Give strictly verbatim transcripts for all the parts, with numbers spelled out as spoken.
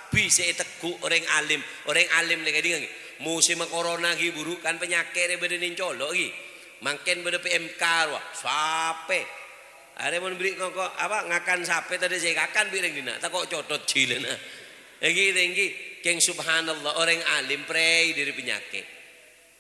Kabbhi sè ètegghu' orèng alim. Orèng alim lè kèdhing, ghi. Musim corona ghi buru kan panyakè' rè bâdâ nèng colo' ghi. Mangkèn bâdâ P M K rowa. Sapè. Arè mon bâri' ngoko-, apa, ngakan sapè tadâ' sè èkakan bi' rèng dinna'. Tako' cotot jhilâna. Èngghi, èngghi. Kèng subhanallah, orèng alim prèi dâri panyakè'.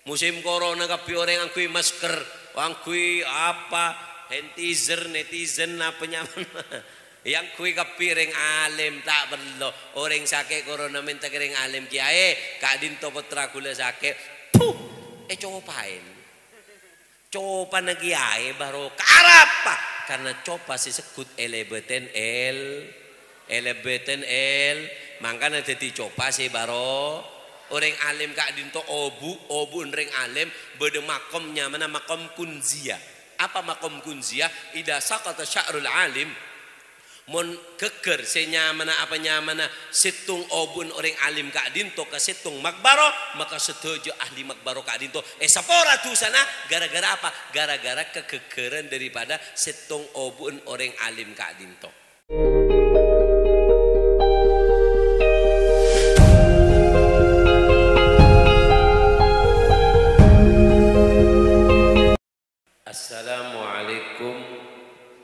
Musim corona kabbhi orèng angghuy masker, angghuy apa, hantizer, netizen, apa nyamana. Èangghuy kabbhi rèng alim, ta' parlo. Orèng sakè' corona mènta ka rèng alim, "Kèyaè, ka'dinto pottra ghulâ sakè'." Puh! Ècopaè. Copana kèyaè barokah. Arapa? Karna copa sè segghut èlèbâtèn èl-, èlèbâtèn èl-, mangkana dhâddhi copa sè baro-, orèng alim ka'dinto obu', obu'en rèng alim, bâdâ makom nyamana makom kunziyah. Apa makom kunziyah? Idza saqata sya'rul alim, mon ghâgghâr sè nyamana apa nyamana sèttong obu'en orèng alim ka'dinto ka sèttong makbaro, maka sadhâjâ ahli makbaro ka'dinto èsapora dhusana gara-gara apa? Gara-gara kaghâgghârân daripada sèttong obu'en orèng alim ka'dinto. Assalamualaikum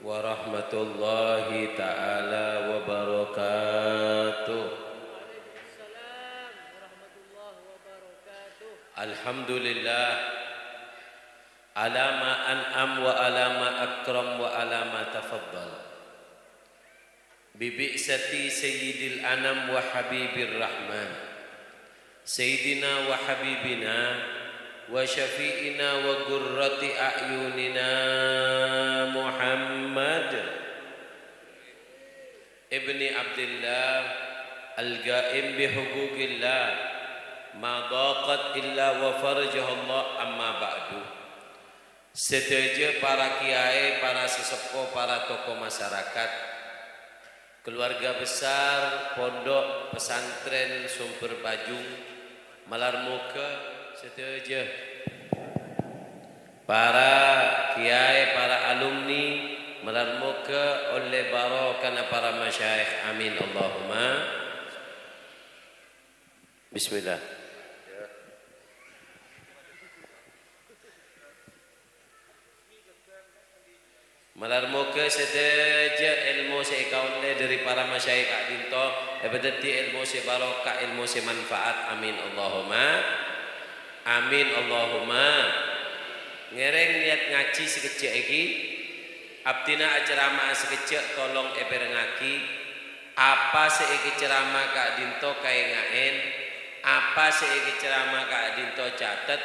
warahmatullahi ta'ala wabarakatuh. Alhamdulillah. Ala ma an'am wa ala ma akram wa ala ma tafaddal. Bi bi'tsati Sayyidil Anam wa Habibir Rahman, Sayyidina wa Habibina wa Syafi'ina wa Qurrati A'yunina Muhammad ibni Abdillah, al-qaim bi huquqillah, ma daqat illa wa farajahallah, amma ba'du. Sadhâjâ para kèyaè, para saseppo, para tokoh masyarakat, keluarga besar Pondok Pesantren Sumber Pajung, malar moghâ sadhâjâ para kèyaè, para alumni, malar moghâ ollè barokana para masyayikh. Amin, Allahumma. Bismillah. Malar moghâ sadhâjâ èlmo sè èkaollè dâri para masyayikh ka'dinto èpadhâddhi èlmo sè barokah, èlmo sè manfaat. Amin, Allahumma. Amin, Allahumma. Ngèrèng niyat ngajhi sakejjhâ' èngghi. Abdhina acerama'a sakejjhâ', tolong èpèrengngaghi. Apa sè èkacerama ka'dinto kaènga'è, apa sè èkacerama ka'dinto catet,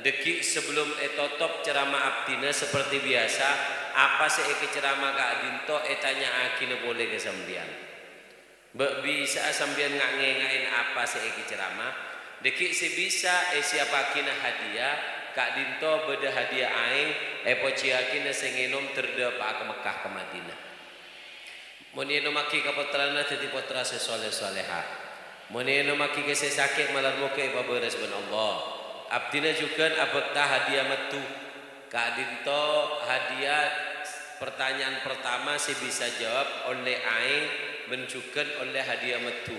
dâggi' sabellum ètotop cerama abdhina saperti biyasa, apa sè èkacerama ka'dinto ètanya'aghina polè ka sampèyan. Bâ' bisa'a sampèyan nga'-ngènga'è apa sè èkacerama, dâggi' sè bisa èsiyapaghina hadiya, ka'dinto bâdâ hadiya aèng èpojiyâghina sè ngènom dârdâpa'a ka Mekkah ka Madinah. Mon ènomaghi ka pottrana dhâddhi pottra sè soleh-soleha. Mon ènomaghi ka sè sakè' malar moghâ èpabârâs bân Allah. Abdhina jhughân abhâkta hadiya maddhu. Ka'dinto hadiya pertanyaan pertama sè bisa jawab ollè aèng bân jhughân ollè hadiya maddhu.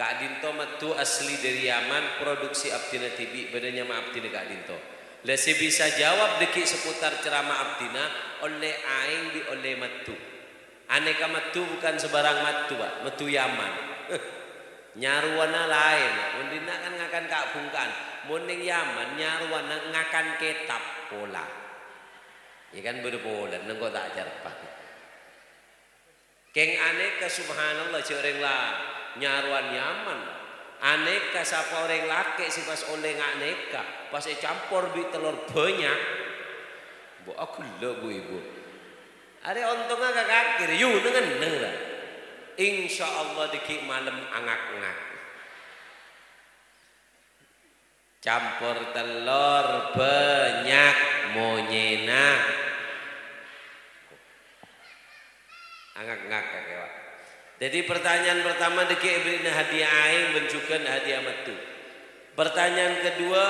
Ka'dinto maddhu asli dâri Yaman, produksi abdhina dhibi', bâdâ nyama abdhina ka'dinto. La sè bisa jawab dâggi' seputar cerama abdhina ollè aèng bi' ollè maddhu. Anèka maddhu bukan sembarang maddhu, Pak. Maddhu Yaman. Nyarowana laèn. Mon dinna' kan ngakan ka'-bhungka'an. Mon neng Yaman, nyarowana ngakan kètab pola. Iyâ kan bâdâ polana, engko' ta' acarpa. Kèng anèka, subhanallah, jhâ' orèng la nyarowan Yaman. Anèka sapa orèng lakè' sè pas ollè nga' nèka, pas ècampor bi' tellor bânnya'. Bu, aghellâ', bu, ibu. Arè ontongnga ka kakè rè, yu, neng-enneng, ra. Insyaallah dâggi' malem angak-ngak. Campor tellor bânnya' monyèna. Angak-ngak kakè, Pak. Jadi, pertanyaan pertama dâggi' èbèrri'na hadiya aèng bân jhughân hadiya maddhu. Pertanyaan kedua,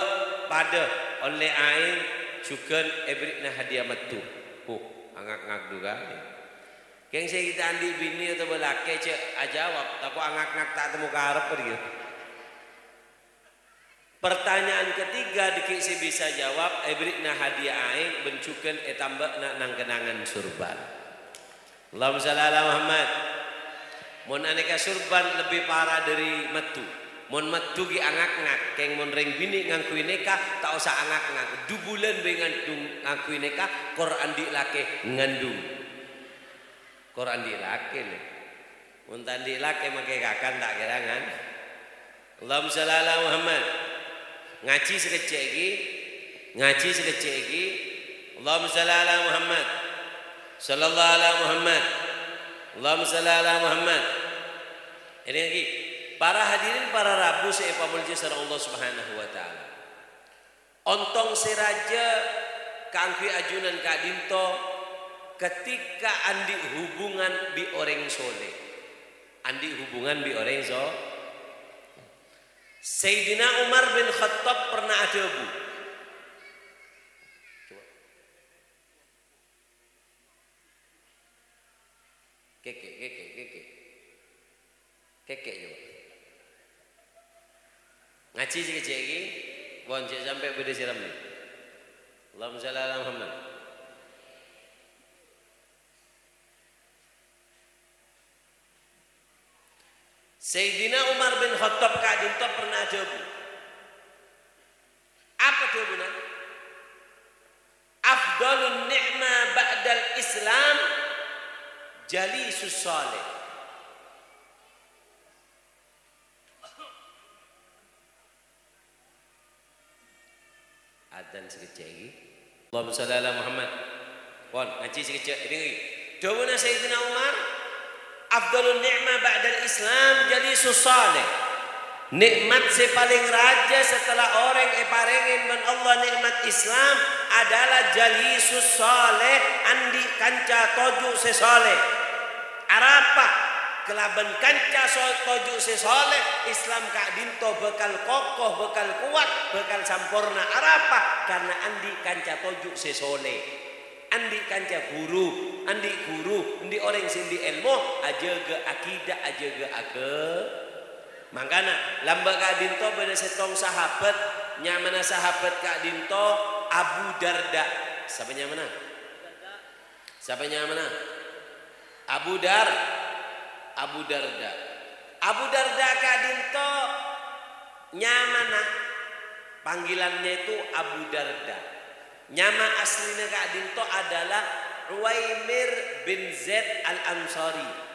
padâ ollè aèng jhughân èbèrri'na hadiya maddhu. Huh, angak-ngak jhughân. Kèng sè ghi' ta' andi' binè otabâ lakè jhâ' ajâwâb, tako' angak-ngak ta' temmo karep, gitu. Pertanyaan ketiga, dâgghi' sè bisa jâwâb, èbherri'na hadiah aèng bân jhughân ètambâ'âna nang-kennangan surban. Allahumma shalli ala Muhammad. Mon anèka surban lebbi para dâri maddhu. Mon maddhu ghi' angak-ngak, kèng mon rèng binè' ngangghuy nèka, ta' osa angak-ngak. Du bulân bhâi ngandung ngangghuy nèka, kor andi' lakè ngandung. Kor andi' lakè, lè. Mon ta' andi' lakè, makè kakan ta' kèrangan. Allahumma shalli ala Muhammad. Ngajhi sakejjhâ' ghi. Ngajhi sakejjhâ' ghi. Allahumma shalli ala Muhammad. Sallallahu ala Muhammad. Allahumma shalli ala Muhammad. Èdingngaghi, para hadirin, para rabu sè èpamolja sareng Allah Subhanahu wa Ta'ala. Ontong sè rajâ kaangghuy ajunan ka'dinto ketika andi' hubungan bi' orèng soleh. Andi' hubungan bi' orèng so-, Sayyidina Umar bin Khattab pernah adhâbu. Kèkè, kèkè, kèkè. Kèkè, coba. Ngajhi sakejjhâ' ghi, pon jhâ' sampè' bâdâ sè rammè. Allahumma shalli ala Muhammad. Sayyidina Umar bin Khattab ka'dinto pernah adhâbu. Apa dhâbuna? "Afdhalun ni'ma ba'dal Islam jalisus shalih." Adzan sakejjhâ' ghi. Allahumma shalli ala Muhammad. Pon, ngajhi sakejjhâ', èdingngaghi. Dhâbuna Sayyidina Umar, "Afdhalun ni'ma ba'dal Islam jalisus shalih." Nè'mat sè palèng rajâ setelah orèng èparèngè bân Allah nè'mat Islam adalah jalisus shalih, andi' kanca toju' sè shaleh. Arapa? Kalabân kanca so-, toju' sè shaleh, Islam ka'dinto bhâkal koko, bhâkal kowat, bhâkal samporna. Arapa? Karna andi' kanca toju' sè shaleh. Andi' kanca ghuru, andi' ghuru, andi' orèng sè andi' èlmo, ajâgâ akidah, ajâgâ agâ-, Mangkana, lambâ' ka'dinto bâdâ sèttong sahabat, nyamana sahabat ka'dinto Abu Darda. Sapa nyamana? Sapa nyamana? Abu Dar-, Abu Darda. Abu Darda ka'dinto nyamana, panggilannya itu Abu Darda. Nyama aslina ka'dinto adalah Uwaimir bin Zaid Al-Ansari.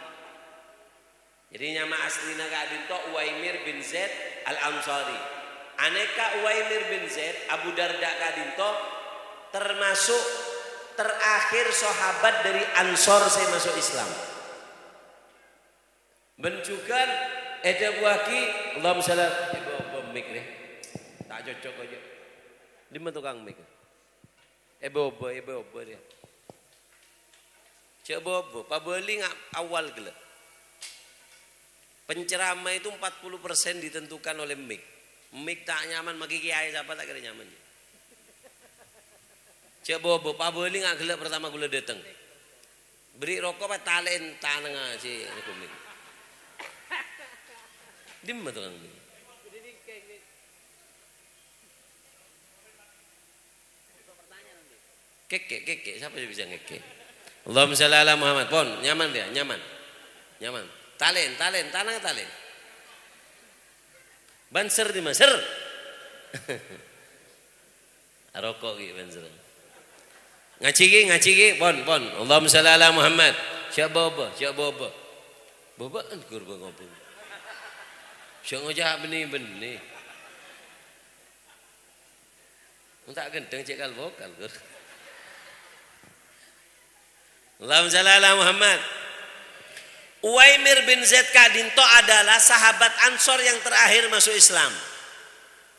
Jadi, nyama aslina ka'dinto Uwaimir bin Zaid Al-Ansari. Anèka Uwaimir bin Zaid, Abu Darda ka'dinto termasuk terakhir sahabat dari Ansor sè maso' Islam. Bân jhughân èdhâbuwâghi, Allahumma shalli, èbâ-obâ mic rè. Ta' cocok aja. Dimma tokang mic? Èbâ-obâ, èbâ-obâ rè. Jhâ' bâ-obâ, pabâli nga' awwal ghellâ'. Penceramah itu empat puluh persen ditentukan oleh mic. Mic ta' nyaman, makè kèyaè sapa ta' kèra nyaman. Jhâ' bâ-obâ, pabâli nga' ghellâ' pertama ghulâ dâteng. Bherri' roko' pas talè'è tanangnga sè nèko mic. Dimma tokang mic? Kèkè, kèkè, sapa sè bisa ngèkè? Allahumma shalli ala Muhammad. Pon, nyaman dia, nyaman. Nyaman. Talè'è, talè'è, tanang talè'è. Bân ser dimma, ser. Aroko' ghi' bân ser. Ngajhi ghi, ngajhi ghi, pon, pon. Allahumma shalli ala Muhammad. Jhâ' bâ-obâ, jhâ' bâ-obâ. Bâbâ'ân ghur bâ-ngobâ. Jhâ' ngoca' bânnè-bânnè. Mon ta' ghânteng cè' kal-bokal, Gur. Allahumma shalli ala Muhammad. Uwaimir bin Zaid ka'dinto adalah sahabat Ansor yang terakhir masuk Islam.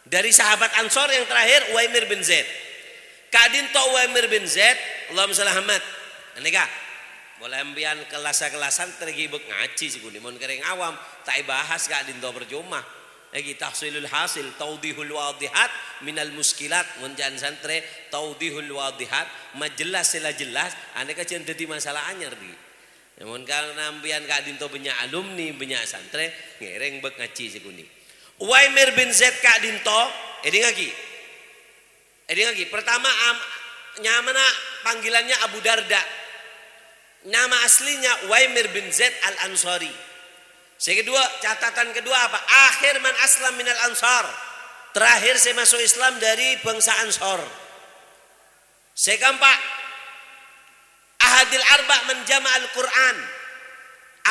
Dari sahabat Ansor yang terakhir, Uwaimir bin Zaid. Ka'dinto Uwaimir bin Zaid, Allahumma shalli Muhammad. Anèka, molaè sampèyan kellas-kellas santrè ghibâ ngajhi sè ghuni, mon kèrèng awam, ta' èbahas ka'dinto parcoma. Èngghi tahsilul hasil, taudhihul wadhihat minal muskilat. Mon ca'na santrè, taudhihul wadhihat, majelas sè la jelas, anèka jhân dhâddhi masalah anyar, ghi. Mon karna sampèyan ka'dinto bânnya' alumni, bânnya' santrè, ngèrèng bâk ngajhi sè ghâni. Uwaimir bin Zaid ka'dinto, èdingngaghi. Èdingngaghi, pertama am-, nyamana panggilannya Abu Darda. Nama aslinya Uwaimir bin Zaid Al-Ansari. Sè kedua, catatan kedua apa? Akhir man aslam minal Ansar. Terakhir sè maso' Islam dari bangsa Ansor. Sè kaempa', ahadil arba' man jama'al Qur'an.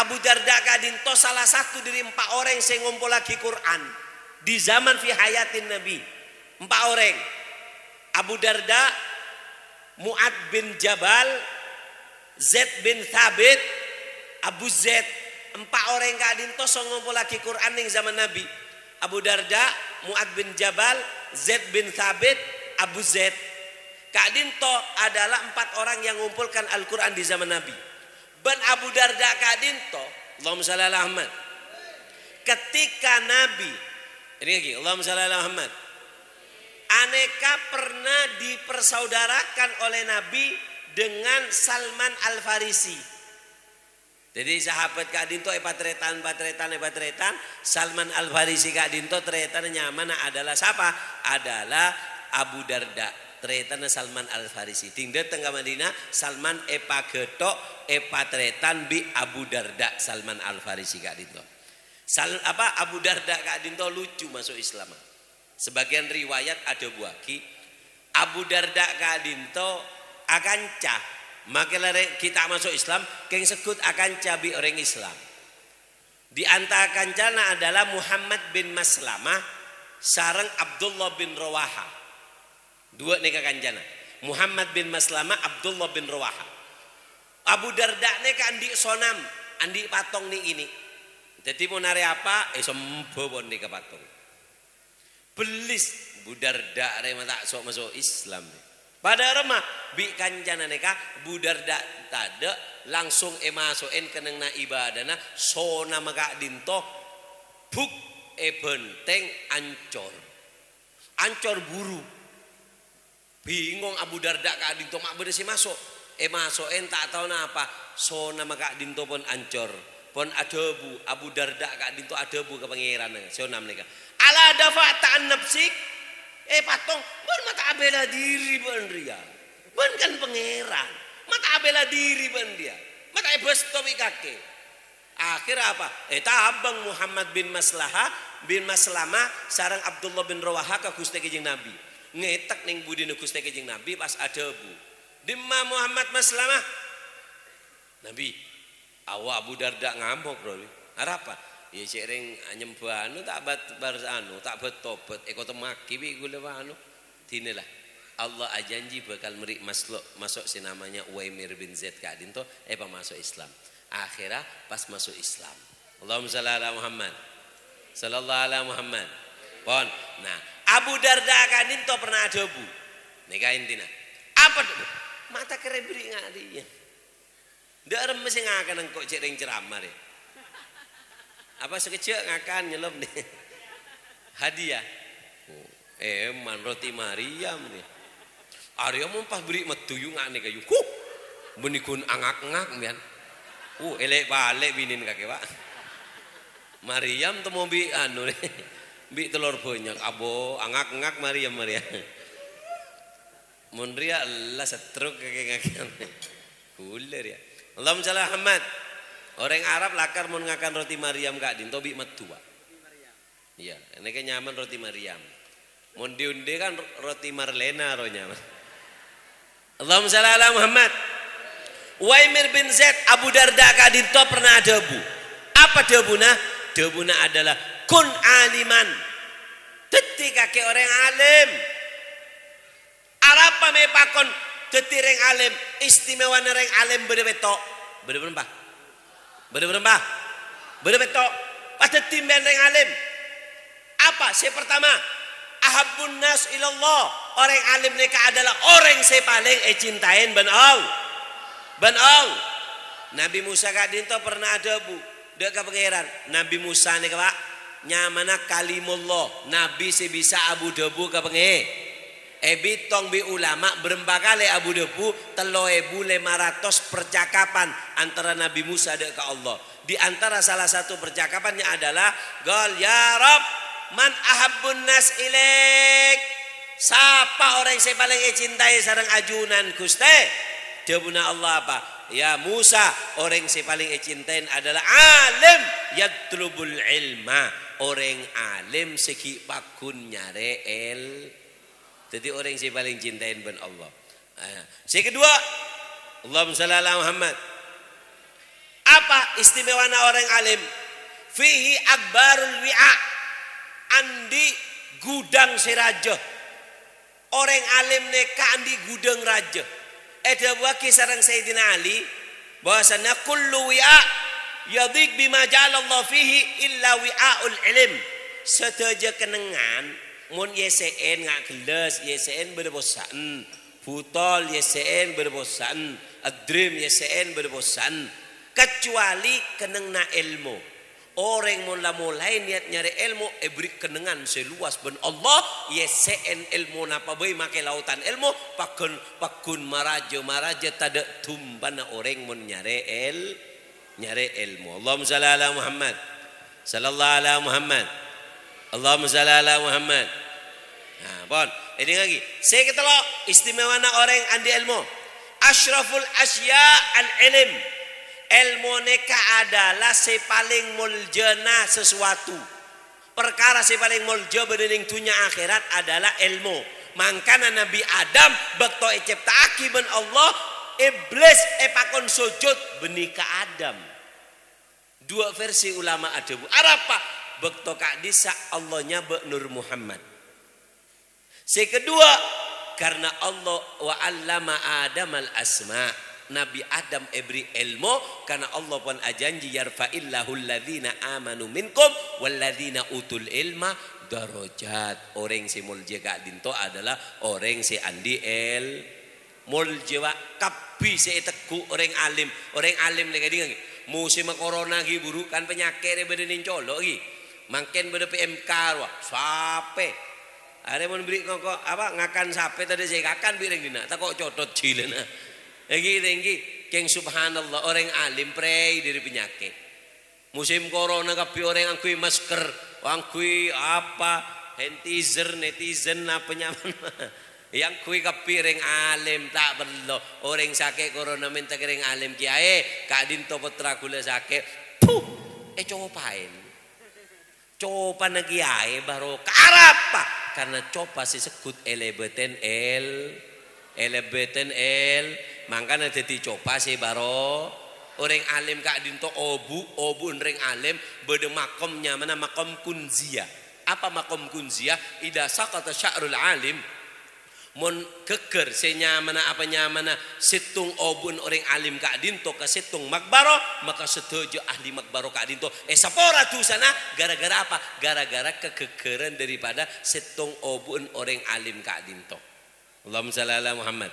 Abu Darda ka'dinto salah satu dari empa' orèng sè ngompollaghi Qur'an di zaman fi hayatin Nabi. Empa' orèng. Abu Darda, Mu'ad bin Jabal, Zaid bin Thabit, Abu Zaid. Empa' orèng ka'dinto sè ngompollaghi Qur'an neng zaman Nabi. Abu Darda, Mu'ad bin Jabal, Zaid bin Thabit, Abu Zaid. Ka'dinto adalah empat orang yang mengumpulkan Al-Qur'an di zaman Nabi. Bân Abu Darda ka'dinto, Allahumma shalli ala Muhammad. Ketika Nabi, èdingngaghi, Allahumma shalli ala Muhammad. Anèka pernah dipersaudarakan oleh Nabi dengan Salman Al-Farisi. Dhâddhi, sahabat ka'dinto èpatarètan, patarètan, èpatarètan. Salman Al-Farisi ka'dinto tarètanna nyamana adalah sapa? Adalah Abu Darda. Tarètanna Salman Al-Farisi. Dhing dâteng ka Madinah, Salman èpaghâtho', èpatarètan bi' Abu Darda, Salman Al-Farisi ka'dinto. Sal-, apa, Abu Darda ka'dinto lucu maso' Islam. Sebagian riwayat adhâbuwâghi, Abu Darda ka'dinto akanca, makkè larè ghi' ta' maso' Islam, kèng segghut akanca bi' orèng Islam. Di antara kancana adalah Muhammad bin Maslamah sareng Abdullah bin Rawaha. Duwâ' nèka kancana. Muhammad bin Maslamah, Abdullah bin Rawaha. Abu Darda nèka andi' sonam, andi' patong nè'-kènè'. Dhâddhi mon arè apa, èsembhâ pon nèka patong. Bellis, Abu Darda rè ma' ta' so'-maso' Islam. Padâ ramma bi' kancana nèka, Abu Darda tadâ', langsung èmaso'è kennengnganna ibâdâna, sonamma ka'dinto, buk, èbhântèng, ancor. Ancor buru. Bingong Abu Darda ka'dinto ma' bâdâ sè maso'. Èmaso'è ta' tao napa, sonamma ka'dinto pon ancor. Pon adhâbu, Abu Darda ka'dinto adhâbu ka Pangèranna, sonam nèka, "Ala dafa'ta an nafsik?" Eh, patong, bân ma' ta' abhilâ dhiri bân rèya. Bân kan Pangèran. Ma' ta' abhilâ dhiri bân rèya. Ma' ta' èbâsto bi' kakè. Akhirra apa? Ètabâng Muhammad bin Maslaha, bin Maslama sareng Abdullah bin Rawaha ka Ghustè Kanjeng Nabi. Ngètek neng budina Ghustè Kanjeng Nabi pas adhâbu, "Dimma Muhammad Maslama?" "Nabi, awa Abu Darda ngamok, ro." "Arapa?" "Iyâ, cè' rèng anyembhâ anu ta' bat-, bar anu, ta' bat-tobat, èkotemmaghi bi' ghulâ anu." "Dinala, Allah ajhânjhi bhâkal mèrè maslo-, maso' sè namanya Uwaimir bin Zaid ka'dinto, èpamaso' Islam." Akhirra pas maso' Islam. Allahumma shalli ala Muhammad. Shallallahu ala Muhammad. Pon. Nah, Abu Darda ka'dinto pernah adhâbu. Nèka intina. Apa, ma' ta' kèra bâri' nga'diyâ. Dâ' remma sè ngakan engko' cè' rèng ceramah rè. Apa sakejjhâ' ngakan nyellop nè. Hadiah. Oh, èman roti Maryam nè. Arèya mon pas bâri' meddhu yu nga'na kayu. Huh! Bânnè ghun angak-ngak, mbiyan. Uh, èlè'-palè' binèna kakè, Pak. Maryam temmo bi' anu nè. Bi' tellor bânnya'. Abo, angak-ngak Maryam, Maryam. Mon rèya ella setruk kakè ngakan. Ghulâ rèya. Allahumma shalli ala Muhammad. Orèng Arab lakar mon ngakan roti Maryam ka'dinto bi' meddhu, Pak. Iyâ, nèka nyamana roti Maryam. Mon di-onḍi kan ro-, roti Marlena ro nyamana. Allahumma shalli ala Muhammad. Uwaimir bin Zaid, Abu Darda ka'dinto pernah adhâbu. Apa dhâbuna? Dhâbuna adalah, "Kun aliman." Dhâddhi kakè orèng alim. Arapa mè' pakon dhâddhi rèng alim? Istimewana rèng alim bâdâ pètto'. Bâdâ bârâmpa? Bâdâ bârâmpa? Bâdâ pètto'. Pas dhâddhi sampèyan rèng alim. Apa? Sè pertama, ahabbun nas ilallah. Orèng alim nèka adalah orèng sè palèng ècintaèn bân All-, bân All-, Nabi Musa ka'dinto pernah adhâbu dâ' ka Pangèran. Nabi Musa nèka, Pak, nyamana Kalimullah, nabi sè bisa abu-dhâbu ka Pangè-, Èbitong bi' ulama bârâmpa kalè abu-dhâbu, tello èbu lèma ratos percakapan antara Nabi Musa dâ' ka Allah. Di antara salah satu percakapannya adalah, qal, "Ya Rabb, man ahabbun nas ilaik?" Sapa orèng sè palèng ècintaè sareng ajunan, Ghustè? Dhâbuna Allah apa? "Ya Musa, orèng sè palèng ècintaè adalah alim yatlubul ilma, orèng alim sè ghi' paggun nyarè èl-." Dhâddhi orèng sè palèng cintaè bân Allah. Ah, sè kedua, Allahumma shalli ala Muhammad. Apa istimewana orèng alim? Fihi akbarul wi'a, andi' gudhâng sè rajâ. Orèng alim nèka andi' gudhâng rajâ. Èdhâbuwâghi sareng Sayyidina Ali, bahwasanna kullu wi'a yadhiq bima ja'alallahu fihi illa wi'aul ilm. Sadhâjâ kennengngan, mon èyessè'è nga' gellâs, èyessè'è bâdâ possa'en, butol èyessè'è bâdâ possa'en, adrim èyessè'è bâdâ possa'en, kecuali kennengnganna èlmo. Orèng mon la molaè niyat nyarè èlmo, èberri' kennengngan sè lowas bân Allah, èyessè'è èlmona pabâi makè laotan èlmo, paggun, paggun marajâ-marajâ tadâ' dumpana orèng mon nyarè èl-, nyarè èlmo. Allahumma shalli ala Muhammad. Sallallahu ala Muhammad. Allahumma shalli ala Muhammad. Nah, pon. Èdingngaghi. Sè katello', istimewana orèng andi' èlmo. Asyraful asya al-ilm. Èlmo nèka adalah sè palèng moljâna sesuatu. Parkara sè palèng moljâ bâdâ neng dhunnya akhèrat adalah èlmo. Mangkana Nabbhi Adam bâkto ècèpta'aghi bân Allah, Iblis èpakon sojud bânnè ka Adam. Duwâ' versi ulama adhâbu, arapa? Bâkto ka'dissa' Allah nyabâ' Nur Muhammad. Sè kedua, karena Allah, "Wa 'allama Adamal asma'." Nabbhi Adam èberri' èlmo, karena Allah pon ajhânjhi, "Yarfa'illahul ladzina amanu minkum wal ladzina utul ilma darajat." Orèng sè moljâ ka'dinto adalah orèng sè andi' èl-, moljâ, Pak, kabbhi sè ètegghu' orèng alim. Orèng alim lè ka'dinto, mosèmma corona ghi' buru, kan panyakè' rè bâdâ neng colo' ghi'. Mangkèn bâdâ P M K rowa, sapè. Arè mon berri' koko, apa, ngakan sapè tadâ' sè èkakan bi' rèng dinna', tako' cotot jhilâna. Ènggi, ènggi, kèng subhanallah, orèng alim prèi dâri panyakè'. Musim corona kabbhi orèng angghuy masker, angghuy apa, hantizer, netizen, apa nyaman. Èangghuy kabbhi rèng alim, ta' perlo. Orèng sakè' corona mènta ka rèng alim, "Kèyaè, ka'dinto pottra ghulâ sakè'." Puh, ècopaè. Copana kèyaè barokah. Arapa? Karna copa sè segghut èlèbâtèn èl-, èlèbâtèn èl-, mangkana dhâddhi copa sè baro-, orèng alim ka'dinto obu', obu'en rèng alim, bâdâ makom nyamana makom kunziyah. Apa makom kunziyah? Idza saqata sya'rul alim, Mon ghâggâr sè nyamana apa nyamana sèttong obu'en orèng alim ka'dinto ka sèttong makbaro, maka sadhâjâ ahli makbaro ka'dinto èsapora dhusana. Gara-gara apa? Gara-gara kaghâggârân daripada sèttong obu'en orèng alim ka'dinto. Allahumma shalli ala Muhammad.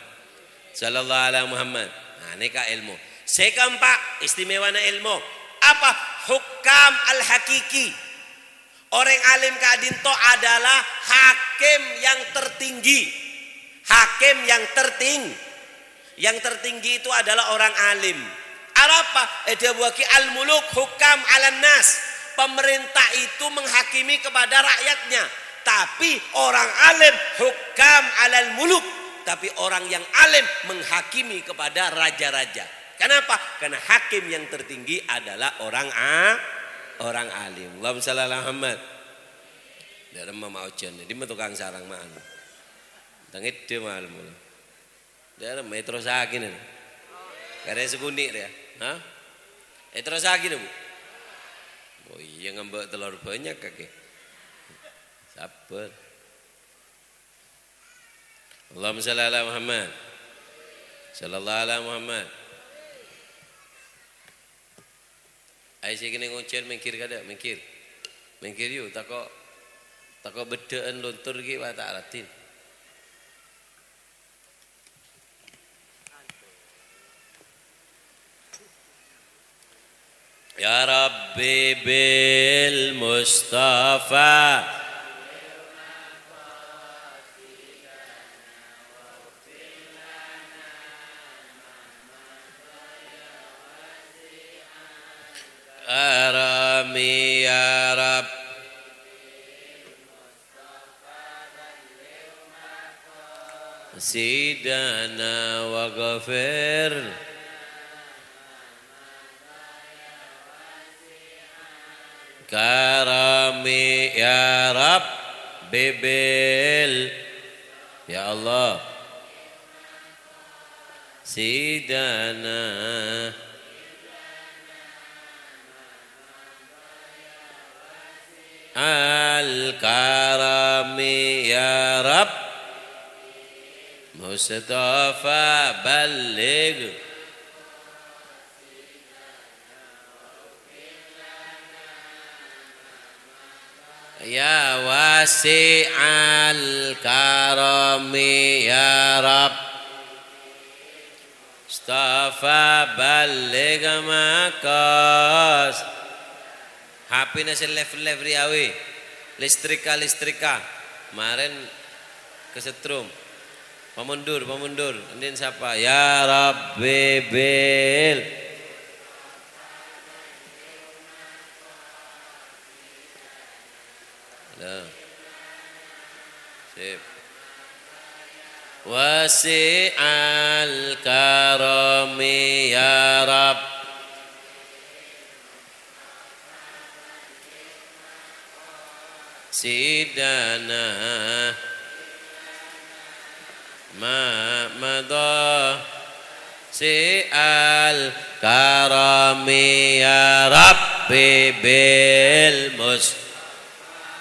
Sallallahu ala Muhammad. Nah, nèka èlmo. Sè kaempa', istimewana èlmo. Apa? Hukam al-hakiki. Orèng alim ka'dinto adalah hakim yang tertinggi. Hakim yang terting-, yang tertinggi itu adalah orang alim. Arapa? Èdhâbuwâghi al-muluk hukam 'alan nas. Pemerintah itu menghakimi kepada rakyatnya. Tapi orang alim hukam 'alal muluk. Tapi orang yang alim menghakimi kepada raja-raja. Kenapa? Karena hakim yang tertinggi adalah orang a-, orang alim. Allahumma shalli ala Muhammad. Dâ'remma ma' ojhân, dimma tokang sarang ma'an. Tangèdhâ malem. Dâ'remma èterrossaghi nè. Karè sakonè' rèya. Hah? Èterrossaghi nè, Bu? Oh iyâ, ngambâ' tellor bânnya' kakè. Sabbhâr. Allahumma shalli ala Muhammad. Sallallahu ala Muhammad. Ayo sè kènè' ngojhân mènggir kadâ', mènggir. Mènggir yu, tako', tako' beddhâ'ân lontor ghi' wa ta' raddhin. Ya Rabbi bil Mustafa. Sidana waghfir karami ya Rabbi bil. Ya Allah. Sidana al-karami ya Rabb. Mustafa balligh. Ya wasi'al karami ya Rabb. Mustafa balligh maqas. H P-na sè live-live rèya, wè. Listrika, listrika. Marèn kesetrum. Pamundur, pamundur. Andin sapa? Ya Rabbi bil. Nah. Sip. Wasi'al karami ya Rabb. Sidana ma madha. Si'al karami ya Rabbi bil mus.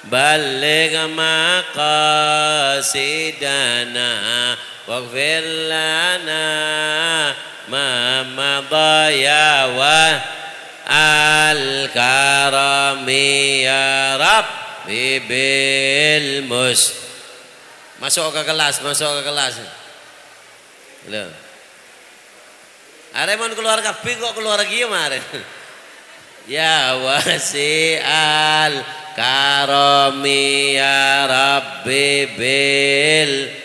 Balligh maqasidana waghfir lana ma madha ya wa al karami ya Rabbi bil mus. Masuk ke kelas, masuk ke kelas. Lho. Arè mon kalowar kabbhi kok kalowar kèya marè. Ya wasi'al karami ya Rabbi bil.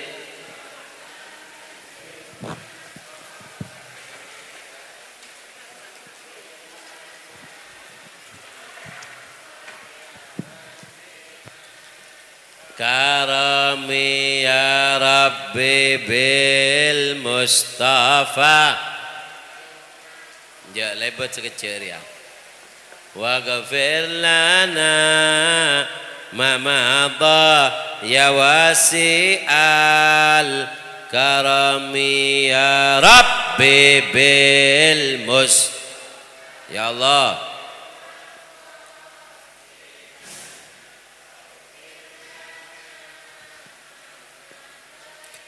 Karami ya Rabbi bil Mustafa. Jhâ' lèbât sakejjhâ' rèya. Waghfir lana ma madha ya wasi'al karami ya Rabbi bil mus-, ya Allah.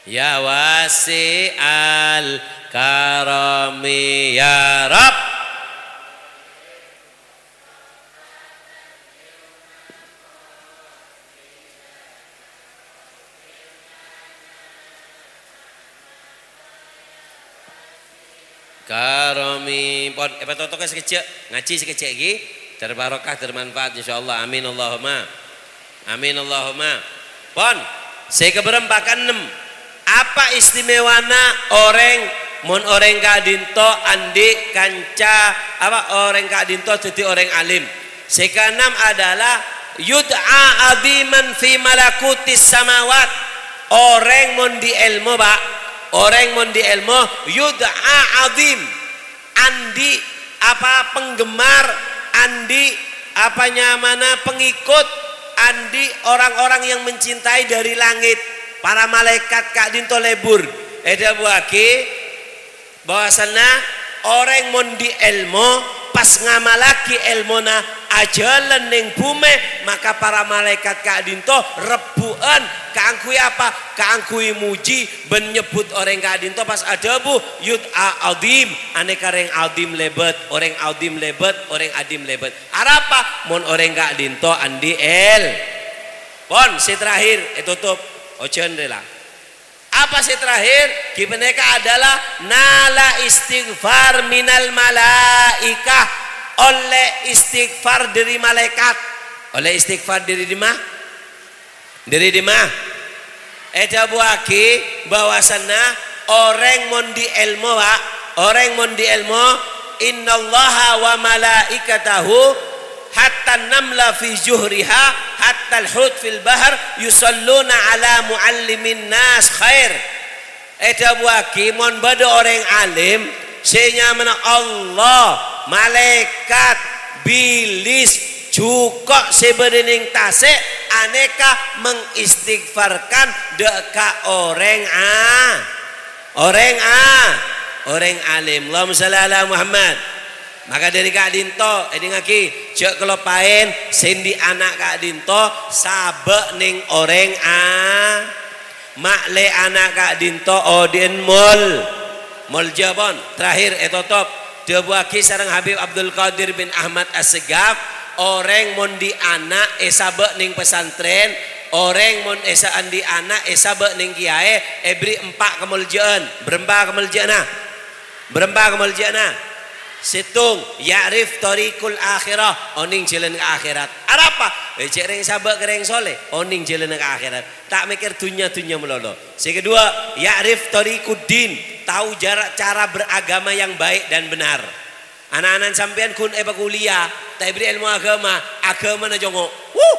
Ya wasi'al karami ya Rabb. Karami, pon, èpatotokè sakejjhâ', ngajhi sakejjhâ' ghi, dâr barokah, dâr manfaat, insyaallah. Amin, Allahumma. Amin, Allahumma. Pon, sè kabârâmpa kaennem. Apa istimewana orèng, mon orèng ka'dinto andi' kanca, apa, orèng ka'dinto dhâddhi orèng alim? Sè kaennem adalah yud'a aziman fi malakutis samawat. Orèng mon andi' èlmo, Pak. Orèng mon andi' èlmo, yud'a azim. Andi', apa, penggemar, andi', apa nyamana, pengikut, andi' orang-orang yang mencintai dari langit. Para malaèkat ka'dinto lebur. Èdhâbuwâghi, bahwasanna orèng mon andi' èlmo, pas ngamallaghi èlmona ajhâlân neng bhumè, maka para malaèkat ka'dinto rebbhu'ân. Kaangghuy apa? Kaangghuy mojhi bân nyebbhut orèng ka'dinto pas adhâbu, "Yud'a azim." Anèka rèng azim lèbât, orèng azim lèbât, orèng adim lèbât. Arapa? Mon orèng ka'dinto andi' èl-, pon, sè terakhir, ètotop. Ojhân rè la. Apa sè terakhir? Ghi panèka adalah nala istighfar minal malaikah, ollè istighfar dâri malaèkat. Ollè istighfar dâri dimma? Dâri dimma? Èdhâbuwâghi bahwasanna orèng mon andi' èlmo, Pak, orèng mon andi' èlmo, "Innallaha wa malaikatahu hatta namla fi juhriha, hatta al-hut fil bahr, yusalluna ala muallimin nas khair." Èdhâbuwâghi, mon bâdâ orèng alim sè nyamana Allah, malaèkat, bilis, jhuko' sè bâdâ neng tasè', anèka mengistighfarkan dâ' ka orèng a-, orèng a-, orèng alim. Allahumma shalli ala Muhammad. Maka dâri ka'dinto, èdingngaghi, jhâ' kaloppaèn sè andi' ana' ka'dinto sabâ' neng orèng a-, ma'lè ana' ka'dinto odi'ân mol-, molja pon. Terakhir ètotop, dhâbuwâghi sareng Habib Abdul Qadir bin Ahmad Assegaf, orèng mon andi' ana' èsabâ' neng pesantren, orèng mon èsa-, andi' ana' èsabâ' neng kèyaè, èberri' empa' kamolja'an. Bârâmpa kamolja'anna? Bârâmpa kamolja'anna? Sèttong, ya'rif thariqul akhirah, onèng jhâlân ka akhèrat. Arapa? Eh, cè' rèng sabâ' ka rèng soleh, onèng jhâlânna ka akhèrat. Ta' mèkkèr dhunnya-dhunnya malolo. Sè kedua, ya'rif thariquddin, tao jara-, cara beragama yang baik dan benar. Ana'-ana' sampèyan ghun èpakuliah, ta' èberri' èlmo aghâma, aghâmana congo'. Wuh!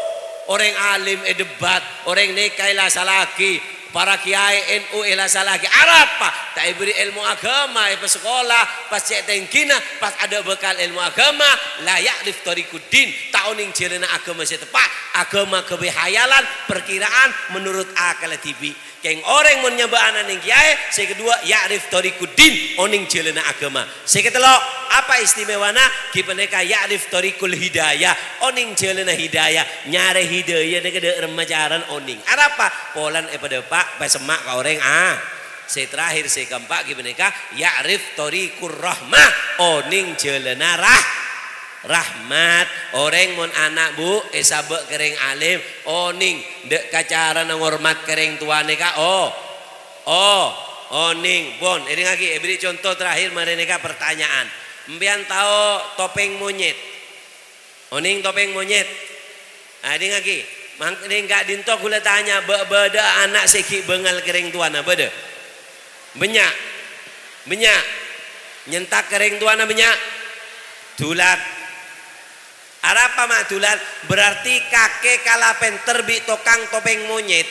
Orèng alim èdebat, orèng nèka èlasallaghi, para kèyaè N U èlasallaghi. Arapa? Ta' èberri' èlmo aghâma, èpasakola, pas cè' tèngghina, pas adâ' bhâkal èlmo aghâma, la ya'rif thariquddin, ta' onèng jhâlânna aghâma sè teppa', aghâma ghâbây hayalan, parkiraan, menurut akalla dhibi'. Kèng orèng mon nyabâ' ana' neng kèyaè, sè kedua, ya'rif thariquddin, onèng jhâlânna aghâma. Sè katello', apa istimewana? Ghi panèka ya'rif thariqul hidayah, onèng jhâlânna hidayah. Nyarè hidayah nèka dâ' remma carana onèng. Arapa? Polana èpadâpa', pasemma' ka orèng, ah. Sè terakhir, sè keempat, ghi panèka ya'rif thariqur rahmah, onèng jhâlânna rah-, rahmat. Orèng mon ana', Bu, èsabâ' ka rèng alim, onèng dâ' ka carana ngormat ka rèng towa nèka, oh. Oh, onèng, pon. Èdingngaghi, èberri' conto terakhir marè nèka pertanyaan. Empèyan tao topèng monyèt? Onèng topèng monyèt? Ah, èdingngaghi. Mang-, neng ka'dinto ghulâ tanya, bâ-, bâdâ ana' sè ghi' bângal ka rèng towana, bâdâ? Bânnya'. Bânnya'. Nyentak ka rèng towana bânnya'. Dulat. Arapa ma' dulat? Berarti kakè kala pènter bi' tokang topèng monyèt.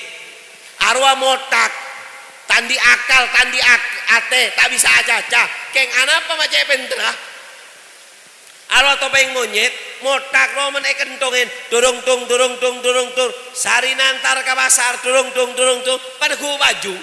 Arowa mothak, ta' andi' akal, ta' andi' ak-, atè, ta' bisa acaca. Kèng anapa ma' cè' pènterra? Arowa topèng monyèt, mothak rowa mon èkenthongè, durung tung, durung tung, durung tung. Sarèna entar ka pasar, durung tung, durung tung, pas neggu' pajung.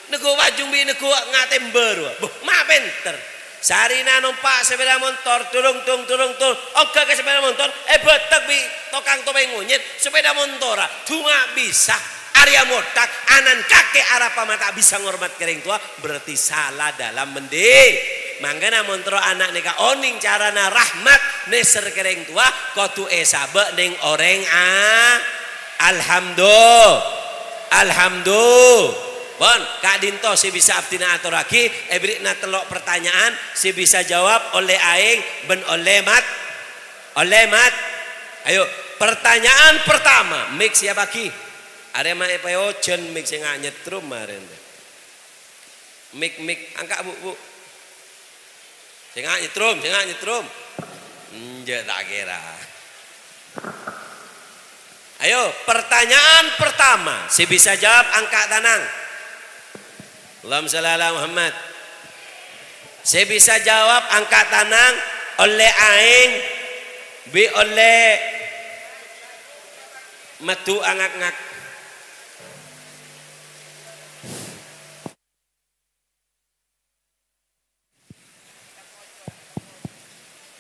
Neggu' pajung bi' neggu' nga' tèmbâ rowa. Boh, ma' pènter. Sarèna nompa' sepèda montor, durung tung, durung tung. Ongghâ ka sepèda montor, èbâtek bi' tokang topèng monyèt, sepèda montorra. Dhu ma' bisa. Arèya mothak, ana'na kakè arapa ma' ta' bisa ngormat ka rèng towa, berarti sala dalam mendi-, mangkana mon terro ana' nèka onèng carana rahmat nèser ka rèng towa, kodhu èsabâ' neng orèng a-, alhamdu-, alhamdu-, pon, ka'dinto sè bisa abdhina atorraghi, èberri'na tello' pertanyaan, sè bisa jawab ollè aèng bân ollè mat-, ollè mat-, ayo, pertanyaan pertama, mic siapaghi. Arè ma' èpajhân mic sè nga' nyetrum marèn. Mic, mic, angka', Bu', Bu'. Sè nga' nyetrum, sè nga' nyetrum. Enjâ' ta' kèra. Ayo, pertanyaan pertama, sè bisa jawab angka' tanang. Allahumma shalli ala Muhammad. Sè bisa jawab angka' tanang, ollè aèng, bi' ollè madhu angak-ngak.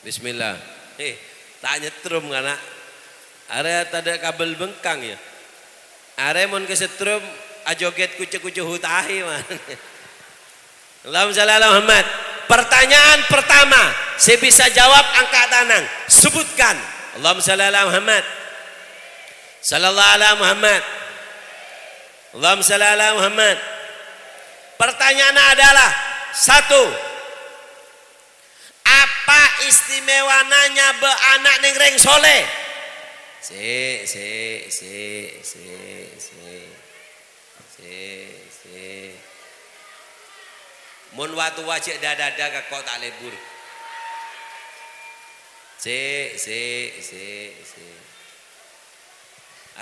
Bismillah. Eh, ta' nyetrum, kana'. Arè tadâ' kabel bengkang, ya. Arè mon kasetrum, ajogèt kucu-kucu hutahi, man. Allahumma shalli ala Muhammad. Pertanyaan pertama, sè bisa jawab angka' tanang. Sebutkan. Allahumma shalli ala Muhammad. Sallallahu ala Muhammad. Allahumma shalli ala Muhammad. Pertanyaanna adalah, satu, apa istimewana nyabâ' ana' neng rèng soleh? Sè, sè, sè, sè, sè. Sè, sè. Mon wa-towa jhâ' dâ-dâdâ ka ko' ta' lebur. Sè, sè, sè, sè.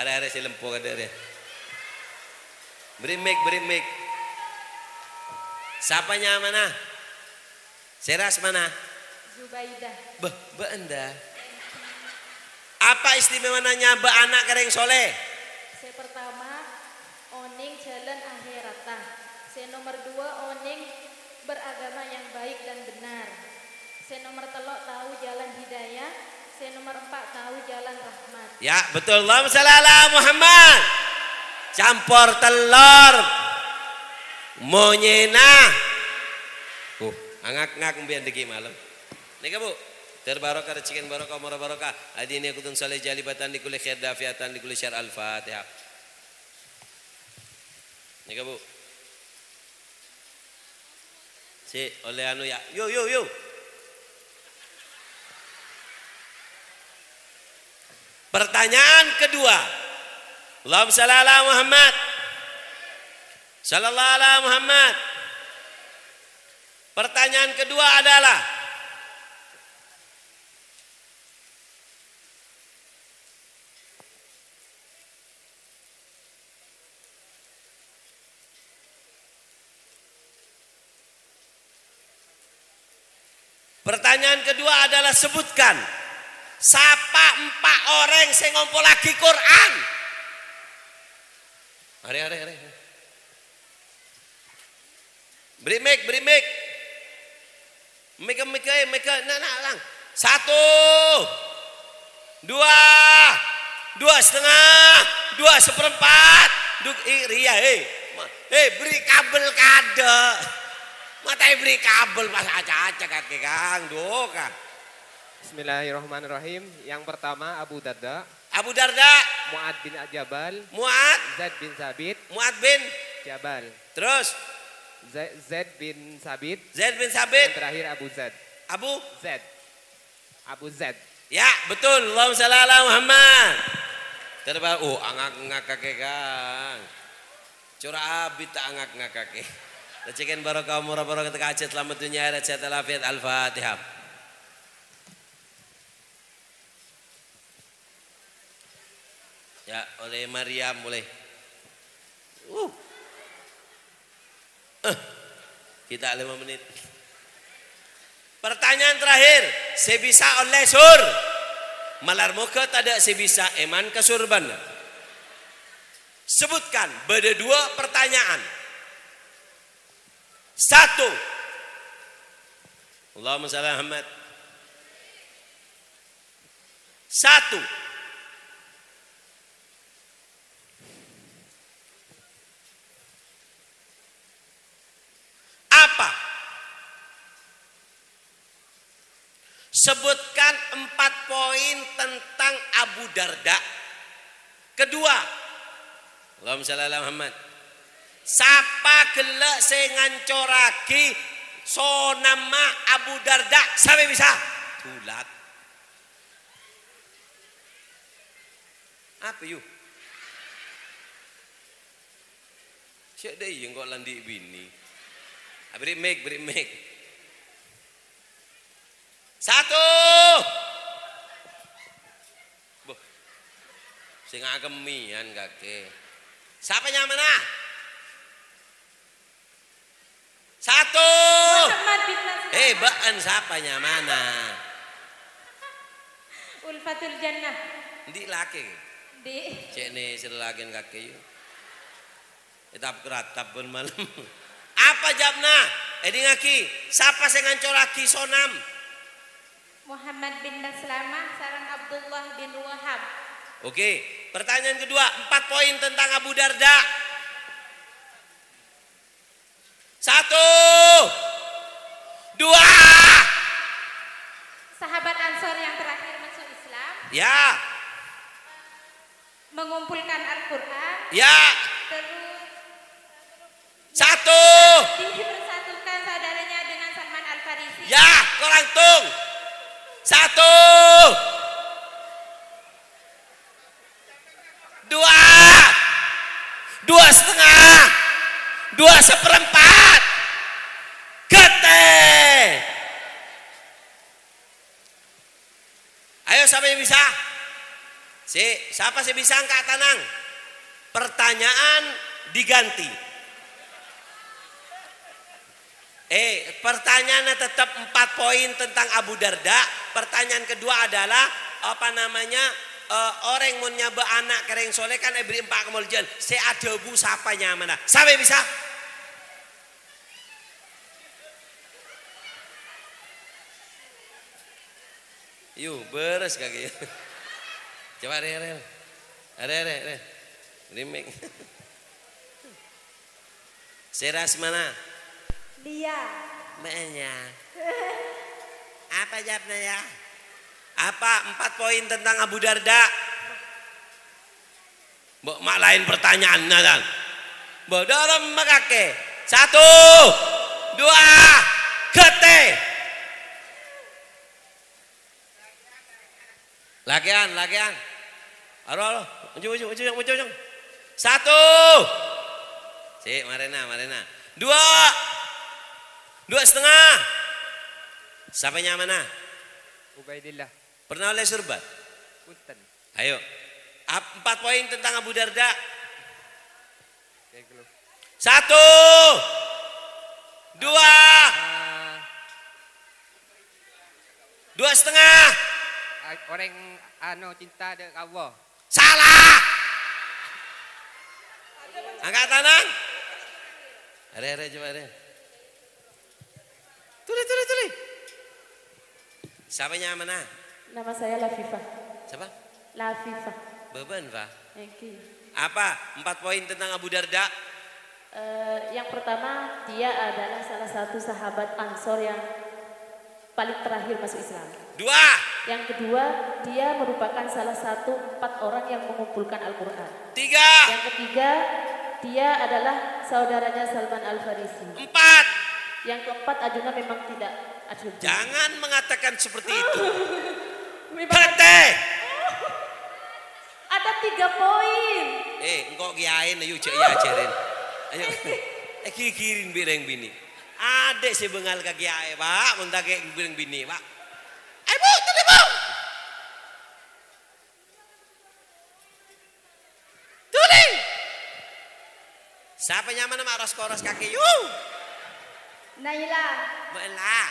Arè-arè sè lempo kadâ' rè. Bâri' mic, bâri' mic. Sapa nyamana? Sè asmana? Zubaidah. Bâh, bâ'na ḍâ. Apa istimewana nyabâ' ana' ka rèng soleh? Sè pertama, onèng jhâlân akhèratta. Sè nomer dua, onèng beragama yang baik dan benar. Sè nomer tello', tahu jalan hidayah. Sè nomer empa', tahu jalan rahmat. Ya, betul. Allahumma shalli ala Muhammad. Campor tellor. Monyèna. Uh, angak-ngak mbiyan ḍâggi' malem. Nèka, Bu. Ter barokah, rejhekkèn barokah, omor barokah. Adina kutun saleh jalibatan di kulli khair dafiatan di kulli syar. Al-Fatihah. Nèka, Bu. Sè ollè anu, ya. Yo, yo, yo. Pertanyaan kedua. Allahumma shalli ala Muhammad. Shallallahu ala Muhammad. Pertanyaan kedua adalah, pertanyaan kedua adalah, sebutkan sapa empa' orèng sè ngompollaghi Qur'an. Arè, arè, arè. Beri mic, beri mic. Mic, mic, eh, mic, na', na', lang. Satu. Dua. Dua setengah. Dua seperempat. Du-, i-, riya, eh. Ma-, eh, beri kabel kaḍâ'. Mata beri kabel pas aca-aca kakè, Kang. Duh, Kang. Bismillahirrahmanirrahim. Yang pertama, Abu Darda. Abu Darda. Mu'ad bin Jabal. Mu'ad. Zaid bin Sabit. Mu'ad bin. Jabal. Terus? Za-, Zaid bin Sabit. Zaid bin Sabit. Yang terakhir Abu Zad. Abu? Zad. Abu Zad. Ya, betul. Allahumma shalli ala Muhammad. Terba-, oh, angak-ngak kakè, Kang. Cora' abit ta' angak-ngak kakè. Rejhekkèn barokah, omor barokah, tekka hajat, selamat dunia akhirat, sehat walafiat. Al-Fatihah. Ya, ollè Maryam, ollè. Uh. Eh, kita lima menit. Pertanyaan terakhir, sè bisa ollè sur. Malar moghâ taḍâ' sè bisa èman ka sur bân. Sebutkan, bâḍâ dua pertanyaan. Satu. Allahumma shalli ala Muhammad. Satu. Apa? Sebutkan empat poin tentang Abu Darda. Kedua, Allahumma shalli ala Muhammad. Sapa ghellâ' sè ngancorraghi sonamma Abu Darda? Sapè bisa? Dulat. Apa, yu? Cè' ḍâ' iyâ engko' la anḍi' binè. Ah, beri mic, beri mic. Satu. Boh. Sè ngakemmèyan kakè. Sapa nyamana? Satu. Muhammad bin Maslama. Eh, bâ'na sapa nyamana? Ulfatul Jannah. Anḍi' lakè? Anḍi'. Cè' nè sè lakèna kakè, yu. Ètap-kratap bân malem. Apa jâwâbbhâ? Èḍingngaghi, sapa sè ngancorraghi sonam? Muhammad bin Maslama sareng Abdullah bin Wahab. Oke, pertanyaan kedua, empat poin tentang Abu Darda. Satu. Dua. Sahabat Ansor yang terakhir masuk Islam. Ya. Mengumpulkan Al-Quran. Ya. Terus satu. Dipersatukan saudaranya dengan Salman Al-Farisi. Ya, korang tung. Satu. Dua. Dua setengah. Dua seperempat. Ghâtè. Ayo, sapa sè bisa? Sè, sapa sè bisa angka' tanang? Pertanyaan diganti. Eh, pertanyaanna tetep empat poin tentang Abu Darda. Pertanyaan kedua adalah, apa namanya, eh, orèng mon nyabâ' ana' ka rèng soleh kan èberri' empa' kamoljâ'ân. Sè adhâbu sapa nyamana? Sapa bisa? Yu, bârâs kakè. Coba, rè, rè. Rè, rè, rè. Limik. Sèra asmana? Lia. Ma'ènya. Apa jawabnya ya? Apa empat poin tentang Abu Darda? Mbok ma' laèn pertanyaanna, Tan. Mbok dhârem makakè. Satu, dua, ghâtè. Lakèyan, lakèyan. Aro, aro. Maju, maju, maju, maju, maju. Satu. Sik, marèna, marèna. Dua. Dua setengah. Sapa nyamana? Ubaidillah. Pernah ollè surban? Punten. Ayo. Ap-, empat poin tentang Abu Darda. Satu. Dua. Ah. Dua setengah. A-, orèng, anu, cinta dâ' ka Allah. Salah. Angka' tangan. Arè, arè, coba arè. Tuli, tuli, tuli. Sapa nyamana? Nama saya Lafifah. Sapa? Lafifah. Bâbân, Fa. Èngghi. Apa empat poin tentang Abu Darda? Eh, yang pertama, dia adalah salah satu sahabat Ansor yang paling terakhir masuk Islam. Dua. Yang kedua, dia merupakan salah satu empat orang yang mengumpulkan Al-Quran. Tiga. Yang ketiga, dia adalah saudaranya Salman Al-Farisi. Empat. Yang keempat, Arjuna memang tidak ada. Jangan mengatakan seperti itu. Memang ada. Ghâtè. Ada tiga poin. Eh, engko' kiyaèna, yu, jhâ' èajhârin. Ayo. Eh, gigirin bi' rèng binè'. Adâ' sè bângal ka kiyaè, Pak. Mon ta' kè' bi' rèng binè', Pak. Ayo, Bu, tuli, Bu. Tuli. Sapa nyamana ma' ros-koros kakè, yu? Naila. Naila.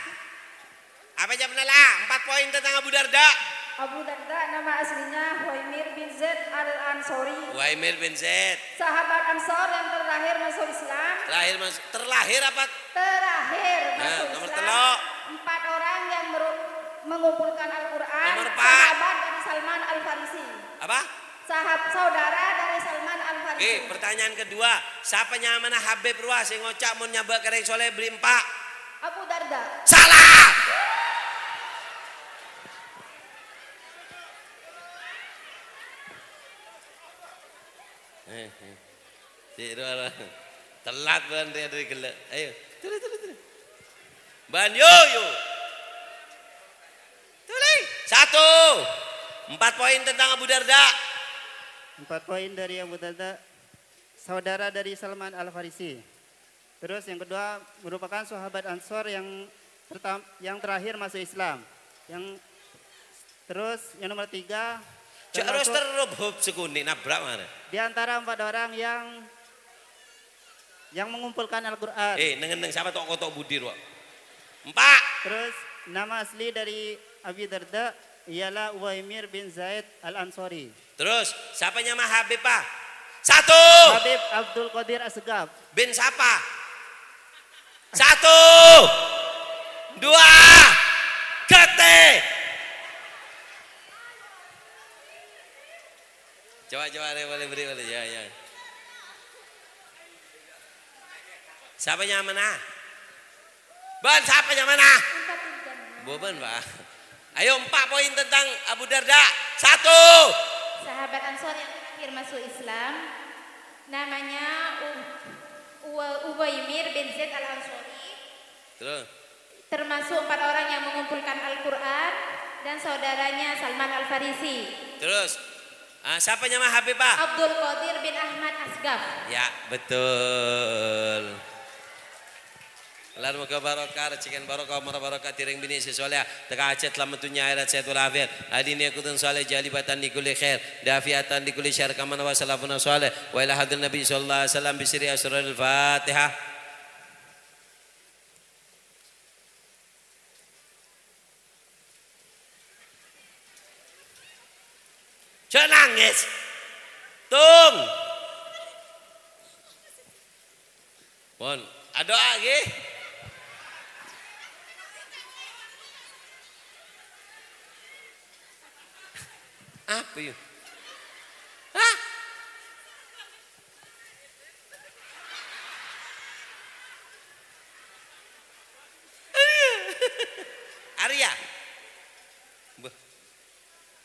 Apa jawabnya, La? Empat poin tentang Abu Darda. Abu Darda nama aslinya Huwaimir bin Zaid Al-Ansori. Huwaimir bin Zaid. Sahabat Ansor yang terakhir masuk Islam. Terakhir mas-, terlahir apa? Terakhir. Nah, masuk nomor Islam. Tello'. Empat orang yang meru-, mengumpulkan Al-Quran. Nomor empat. Sahabat dari Salman Al-Farisi. Apa? Sahab-, saudara dari Salman Al-Farisi. Oke, pertanyaan kedua. Sapa nyamana Habib rowa sè ngoca' mon nyabâ' ka rèng soleh bâri' empa'? Abu Darda. Salah! Eh, eh. Cik, dua, dua. Telat bân rèya dâri ghellâ'. Ayo, tuli, tuli, tuli. Bân, yo, yo. Tuli. Satu. Empat poin tentang Abu Darda. Empat poin dari Abu Darda, saudara dari Salman Al-Farisi. Terus yang kedua, merupakan sahabat Ansor yang pertam-, yang terakhir masuk Islam. Yang, terus yang nomor tiga, jhâ' ros termasuk terro bhub sekunè' nabrak marè. Di antara empat orang yang, yang mengumpulkan Al-Quran. Eh, neng-enneng sapa to'-koto' budi rowa? Empa'. Terus nama asli dari Abi Darda ialah Uwaimir bin Zaid Al-Ansori. Terus, sapa nyama Habib, Pak? Satu. Habib Abdul Qadir Asegaf. Bin sapa? Satu. Dua. Ghâtè. Coba, coba, boleh beri, boleh. Ya, ya. Sapa nyamana? Bân, sapa nyamana? Bân, Pak. Ayo, empa' poin tentang Abu Darda. Satu. Sahabat Ansor yang terakhir masuk Islam, namanya U-, Uwa-, Uwaimir bin Zaid Al-Ansori. Terus? Termasuk empat orang yang mengumpulkan Al-Quran dan saudaranya Salman Al-Farisi. Terus? Ah, sapa nyama Habib, Pak? Abdul Qadir bin Ahmad Asgaf. Ya, betul. Lan moghâ barokah, rejhekkèn barokah, omor barokah, dhâreng binè' sè solehah, tekka hajhât salamet dhunnya akhèrat, sehat walafiat, adina kutun soleh, jalibatan li kulli khair, dafiatan li kulli syarr, kama nawa salafuna shalih, wa ila hadratin Nabi sallallahu alaihi wasallam, bi sirri asraril Fatihah. Tung. Pon, adu'a, ghi. Apa, yuk? Hah? Arya. Beh.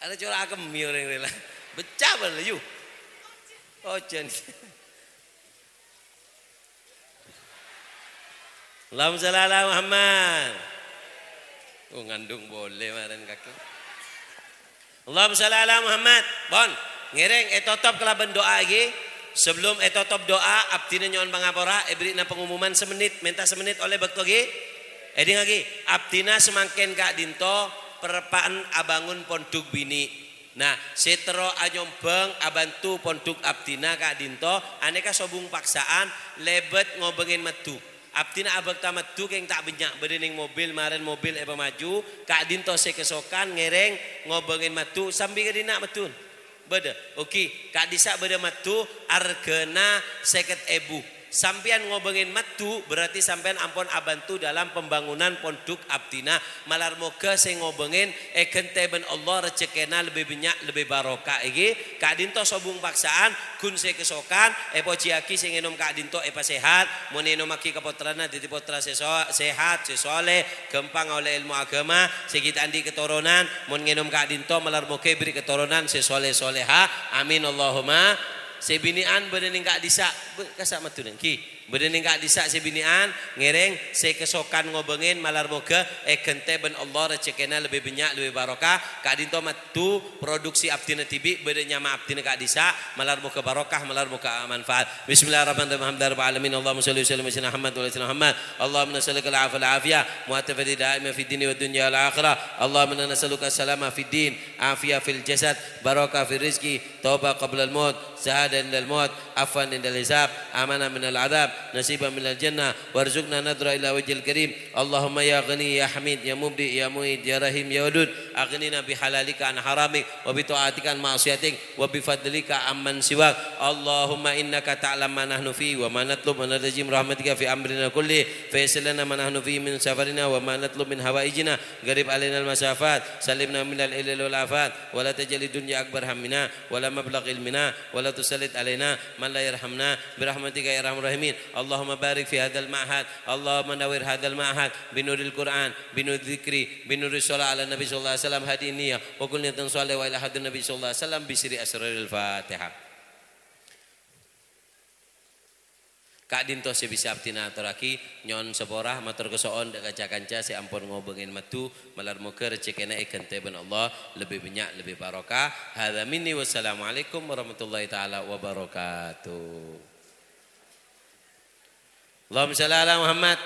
Ada corak akemmi orèng rèla. Becca bâlâ, yu. Ojhân. Allahumma shalli ala Muhammad. Oh, ngandung boleh marèn kakè. Allahumma shalli ala Muhammad. Pon, ngèrèng ètotop kalabân du'a, ghi. Sabellum ètotop du'a, abdhina nyo'on pangapora, èbherri'na pengumuman samennit, mènta samennit ollè bâkto, ghi. Èdingngaghi, abdhina samangkèn ka'dinto pereppa'an abângon pondhuk binè'. Nah, sè terro anyombhâng abhânto pondhuk abdhina ka'dinto, anèka sobung paksa'an lèbât ngobângè maddhu. Abdhina abhâkta maddhu kèng ta' bânnya', bâdâ neng mobil, marèn mobil èpamaju, ka'dinto sè kasokan ngèrèng ngobângè maddhu, sambi ka dinna' maddhuna. Bâdâ, oke, ka'dissa' bâdâ maddhu arghâna sèket èbu. Sampèyan ngobângè maddhu, berarti sampèyan ampon abhânto dalam pembangunan pondhuk abdhina. Malar moghâ sè ngobângè èghântè bân Allah, rejhekkèna lebbi bânnya', lebbi barokah, èghi. Ka'dinto sobung paksa'an, ghun sè kasokan, èpojiyaghi sè ngènom ka'dinto èpasèhat. Mon ènommaghi ka pottrana dhâddhi pottra sè so-, sèhat, sè soleh, ghâmpang ollè èlmo aghâma, sè ghi' ta' andi' katoronan, mon ngènom ka'dinto malar moghâ èbherri' katoronan sè soleh-soleha. Amin, Allahumma. Sè binè'an bâdâ neng ka'dissa', bâ-, kassa' maddhuna, ghi. Bâdâ neng ka'dissa' sè binè'an, ngèrèng sè kasokan ngobângè malar moghâ èghântè bân Allah, rejhekkèna lebbi bânnya', lebbi barokah. Ka'dinto maddhu produksi abdhina dhibi', bâdâ nyama abdhina ka'dissa', malar moghâ barokah, malar moghâ manfaat. Bismillahirrahmanirrahim. Alhamdulillahirabbil alamin. Allahumma shalli wa sallim ala sayyidina Muhammad wa ala ali sayyidina Muhammad. Allahumma nas'aluka al-afiyata daima fid dini wad dunya wal akhirah. Allahumma inna nas'aluka salama fid din, afiyah fil jasad, barokah fil rizki, taubat qablal maut, syahadah indal maut, afwan indal hisab, amanah minal adab, nasiban minal jannah, warzuqna nadhra ila wajhil karim. Allahumma ya ghani, ya hamid, ya mubdi, ya mu'id, ya rahim, ya wadud, aghnina bihalalika an haramik, wa bita'atika an ma'siyatik, wa bifadlika amman siwak. Allahumma innaka ta'lam ma nahnu fi wa ma natlub wa nartaji min rahmatika fi amrina kulli. Fa yassir lana ma nahnu fi min safarina wa ma natlub min hawaijina. Gharib alaina al-masafat. Salimna minal ilal wal afat. Wa la taj'alid dunya akbar hammina. Wa la mablagha ilmina. Wa la tusallit alaina man la yarhamna. Bi rahmatika ya arhamar rahimin. Allahumma barik fi hadzal ma'had. Allahumma nawwir hadzal ma'had bi nuril Qur'an, bi nuril dzikri, bi nuris shalah ala Nabi sallallahu alaihi wasallam, hadhihi niyah, wa kullu niyatin shalihah wa ila hadratin Nabi sallallahu alaihi wasallam bi sirri asraril Fatihah. Ka'dinto sè bisa abdhina atorraghi, nyo'on sapora, mator kaso'on dâ' ca-kanca sè ampon ngobângè maddhu, malar moghâ rejhekkèna èghântè bân Allah, lebbi bânnya', lebbi barokah. Hadza minni, wassalamualaikum warahmatullahi taala wabarakatuh. Allahumma shalli ala Muhammad.